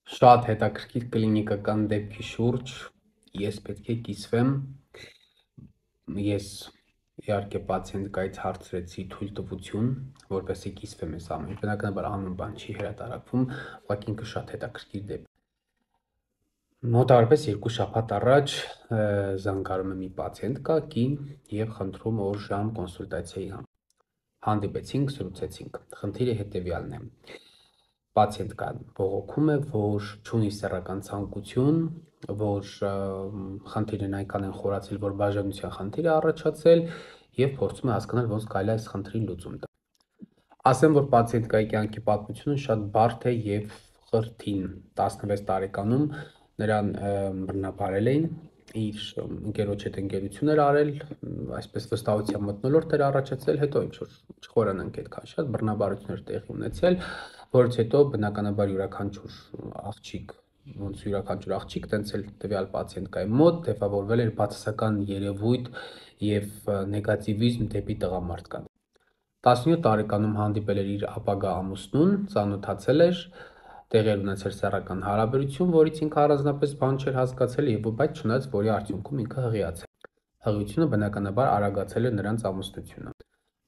Շատ հետաքրքիր կլինիկական դեպքի շուրջ ես պետք է կիսվեմ։ Ես իհարկե պացիենտկայից հարցրեցի թույլտվություն, որպեսզի կիսվեմ այս ամենը։ Բնականաբար անուն բան չի հրատարակվում, ուղղակի ինքը շատ հետաքրքիր դեպք։ Մոտավորապես 2 շաբաթ առաջ զանգարում է մի պացիենտկա, կին, եւ խնդրում օր ժամ կոնսուլտացիայի համար։ Հանդիպեցինք, զրուցեցինք։ Խնդիրը հետեւյալն է։ Պացիենտկան բողոքում է, որ չունի սեռական ցանկություն, որ խնդիրն այնքան են խորացել, որ բաժանության խնդիր է առաջացել եւ փորձում է հասկանալ ոնց կարելի է այս խնդրին լուծում տալ։ Ասեմ, որ պացիենտկայի կյանքի պատմությունը շատ բարդ է եւ խրթին։ 16 տարեկանում նրան բռնաբարել էին, իր ընկերոջ հետ ընկերություն էր արել, այսպես վստահության մթնոլորտ էր առաջացել, հետո ինչ-որ չխորանանք այդքան շատ բռնաբարություններ տեղի ունեցել, որից հետո բնականաբար յուրաքանչյուր աղջիկ, տենց էլ տվյալ պացիենտկայի մոտ ձևավորվել էր բացասական երևույթ եւ նեգատիվիզմ դեպի տղամարդկանց։ 17 տարեկանում հանդիպել էր իր ապագա ամուսնուն, ծանոթացել էր, տեղի էր ունեցել սեռական հարաբերություն, որից ինքը առանձնապես բան չէր հասկացել եւ բայց չնայած որի արդյունքում ինքը հղիացել։ Հղիությունը բնականաբար արագացել է նրանց ամուսնությունը։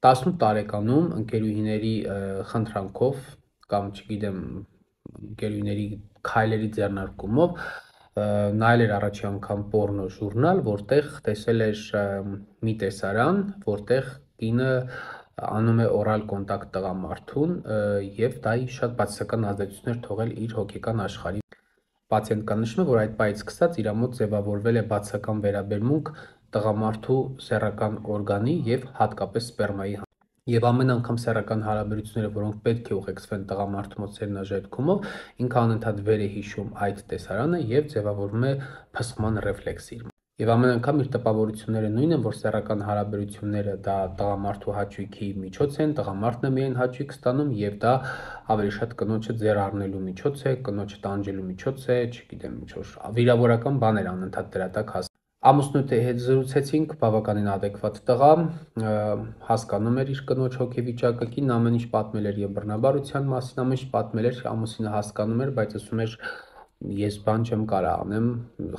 18 տարեկանում ընկերուհիների խնդրանքով կամ չգիտեմ ընկերուհիների քայլերի ձեռնարկումով նայել էր առաջի անգամ պոռնո ժուրնալ, որտեղ տեսել էր մի տեսարան, որտեղ կինը անում է օրալ կոնտակտ տղամարդուն եւ դա շատ բացասական ազդեցություն էր թողել իր հոգեկան աշխարհի։ Պացիենտկան նշում է, որ այդ պահից սկսած իր մոտ ձևավորվել է բացասական վերաբերմունք տղամարդու սեռական օրգանի եւ հատկապես սպերմայի եւ ամեն անգամ սեռական հարաբերությունները, որոնք պետք է ուղեկցվեն տղամարդու մոտ սերնաժայթքումով, ինքը անընդհատ վեր է հիշում այդ տեսարանը եւ ձևավորվում է փսխման ռեֆլեքս իր մոտ։ Եվ ամեն անգամ իր տպավորությունները նույնն են, որ սեռական հարաբերությունները դա տղամարդու հաճույքի միջոց են, տղամարդն է միայն հաճույք ստանում եւ դա ավելի շատ կնոջը ձեռ առնելու միջոց է, կնոջը տանջելու միջոց է, չգիտեմ, ինչ-որ վիրավորական բաներ անընդհատ դրա տակ հաս։ Ամուսնուի հետ զրուցեցինք, բավականին adekvat տղա, հասկանում էր իր կնոջ հոգեվիճակը, կինն ամեն ինչ պատմել էր եւ բռնաբարության մասին, ամեն ինչ պատմել էր, ամուսինը հասկանում էր, բայց ասում էր ես բան չեմ կարող անեմ,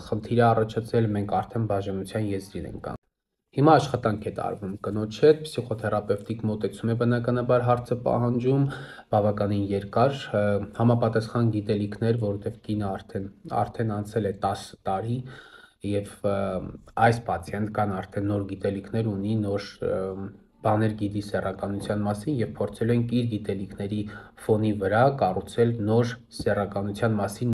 խնդիր է առաջացել, մենք արդեն բաժանության եզրին ենք կանգ։ Հիմա աշխատանք է տարվում կնոջ հետ, փսիխոթերապևտիկ մոտեցում է բնականաբար հարցը պահանջում, բավականին երկար, համապատասխան գիտելիքներ, որովհետեւ կինը արդեն անցել է 10 տարի եւ այս պացիենտկան արդեն նոր գիտելիքներ ունի, նոր բաներ գիտի սեռականության մասին եւ փորձել ենք իր գիտելիքների ֆոնի վրա կառուցել նոր սեռականության մասին